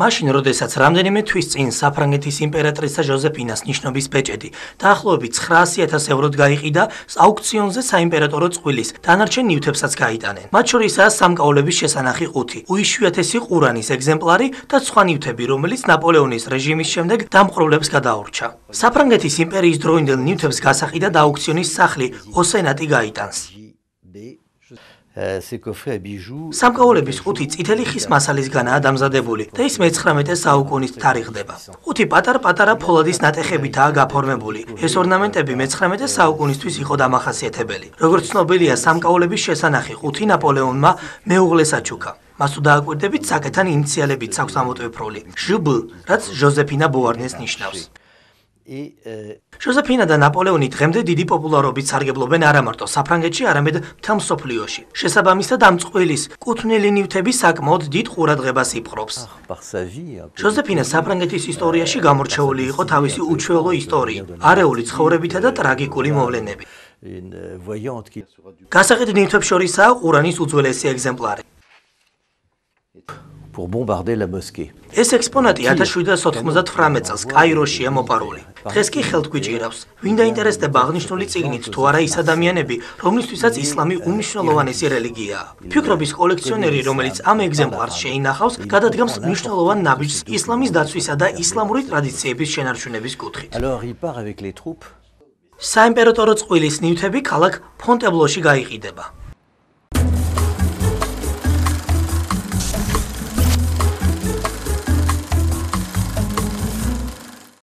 მაშინ, როდესაც რამდენიმე თვის წინ საფრანგეთის იმპერატრიცა ჟოზეფინას ნიშნობის ბეჭედი დაახლოებით 900,000 ევროდ გაიყიდა აუქციონზე საიმპერატორო წყვილის დანარჩენ ნივთებსაც გაიტანენ. მათ შორისაა სამკაულების შესანახი 5, უიშვიათესი ყურანის ეგზემპლარი და სხვა ნივთები, რომელიც ნაპოლეონის რეჟიმის შემდეგ დამპყრობლებს გადაურჩა. საფრანგეთის იმპერიის დროინდელ ნივთებს გასაყიდად აუქციონის სახლი ოსენატი გაიტანს. სამკაულების 5 წითელი ხის მასალისგანაა დამზადებული და ის მე-19 საუკუნის თარიღდება. 5 პატარ-პატარა ფოლადის ნატეხებითაა გაფორმებული. ეს ორნამენტები მე-19 საუკუნისთვის იყო დამახასიათებელი. როგორც ცნობილია, სამკაულების შესანახი 5 ნაპოლეონმა მეუღლეს აჩუქა. მას თუ დააკვირდებით, საკეთან ინიციალებიც აქვს ამოტვიფრული ჟბ, რაც ჟოზეფინა ბუარნეს ნიშნავს. ჟოზეფინა და ნაპოლეონი დღემდე დიდი პოპულარობით სარგებლობენ არა მარტო საფრანგეთში, არამედ მთელ მსოფლიოში. შესაბამისად, ამ წყვილის კუთვნილი ნივთები საკმაოდ დიდ ყურადღებას იპყრობს. ჟოზეფინა საფრანგეთის ისტორიაში გამორჩეული იყო თავისი უჩვეულო ისტორიით, არეული ცხოვრებითა და ტრაგიკული მოვლენებით. გასაყიდ ნივთებს შორისაა ყურანის უძველესი ეგზემპლარი. ეს ექსპონატი 1798 წელს კაიროშია მოპარული. დღეს კი ხელთ გვიჭირავს. ვინ დაინტერესდება აღნიშნული წიგნით, თუ არა ის ადამიანები, რომლისთვისაც ისლამი უმნიშვნელოვანესი რელიგიაა. ფიქრობის კოლექციონერი, რომელიც ამ ეგზემპლარს შეინახავს, გადადგამს მნიშვნელოვან ნაბიჯს ისლამის დაცვისა და ისლამური ტრადიციების შენარჩუნების კუთხით. საიმპერატორო წყვილის ნივთები ქალაქ ფონტებლოში გაიყიდება.